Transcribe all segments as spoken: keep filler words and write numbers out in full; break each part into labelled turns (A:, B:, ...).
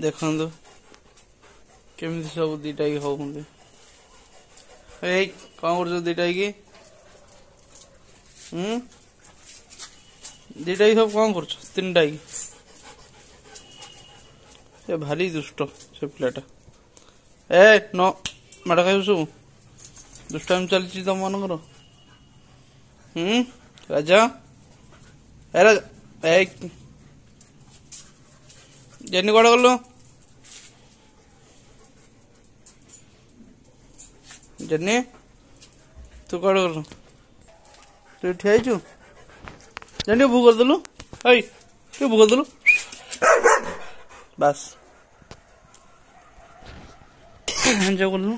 A: ଦେଖନ୍ତୁ କେମିତି ସବୁ ଦିଟା ହେଇକି ହଉଛନ୍ତି। ଏଇ କଣ କରୁଛ ଦିଟା ହେଇକି? ହୁଁ, ଦିଟା ହେଇକି ସବୁ କଣ କରୁଛ? ତିନିଟା ହେଇକି। ସେ ଭାରି ଦୁଷ୍ଟ ସେ ପିଲାଟା। ଏ ନ ମାଡ଼ ଖାଇବୁ, ସବୁ ଦୁଷ୍ଟାମି ଚାଲିଛି ତମ ମାନଙ୍କର। ହୁଁ ରାଜା, ଏ ରାଜା, ଏ ଜେନି କୁଆଡ଼େ ଗଲୁ? ଜେନି ତୁ କୁଆଡ଼େ ଗଲୁ? ତୁ ଠିଆ ହେଇଛୁ? ଜେନି ଭୁ କରିଦେଲୁ, ଏଇ ଟିକେ ଭୁ କରିଦେଲୁ, ବାସ୍ ଏନ୍ଜୟ କଲୁ।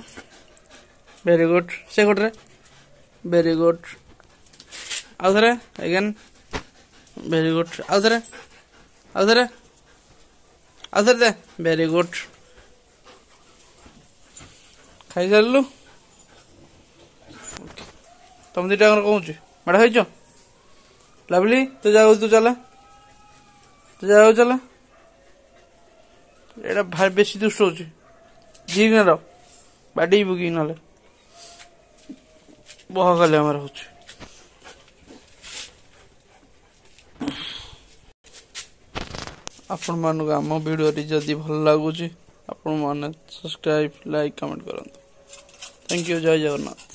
A: ଭେରି ଗୁଡ୍, ସେ ଗୋଟରେ ଭେରି ଗୁଡ୍। ଆଉ ଥରେ ଏଗେନ୍, ଭେରି ଗୁଡ୍। ଆଉ ଥରେ, ଆଉ ଥରେ, ଆଉ ଥରେ ଦେ, ଭେରି ଗୁଡ୍। ଖାଇସାରିଲୁ? ତମ ଦିଟା କହୁଛି ମାଡ଼ ଖାଇଛ? ଲାଭଲି ତୁ ଯାଉ, ତୁ ଚାଲା, ତୁ ଯାଉ ଚାଲା। ଏଇଟା ଭାରି ବେଶୀ ଦୁଷ୍ଟ ହଉଛି, ଯିଏ ର ବାଡେଇବୁ କି ନହେଲେ ବହ ଖାଲି ଆମର ହଉଛି। ଆପଣମାନଙ୍କୁ ଆମ ଭିଡ଼ିଓଟି ଯଦି ଭଲ ଲାଗୁଛି, ଆପଣମାନେ ସବସ୍କ୍ରାଇବ୍, ଲାଇକ୍, କମେଣ୍ଟ କରନ୍ତୁ। Thank you, Jay Jagannath.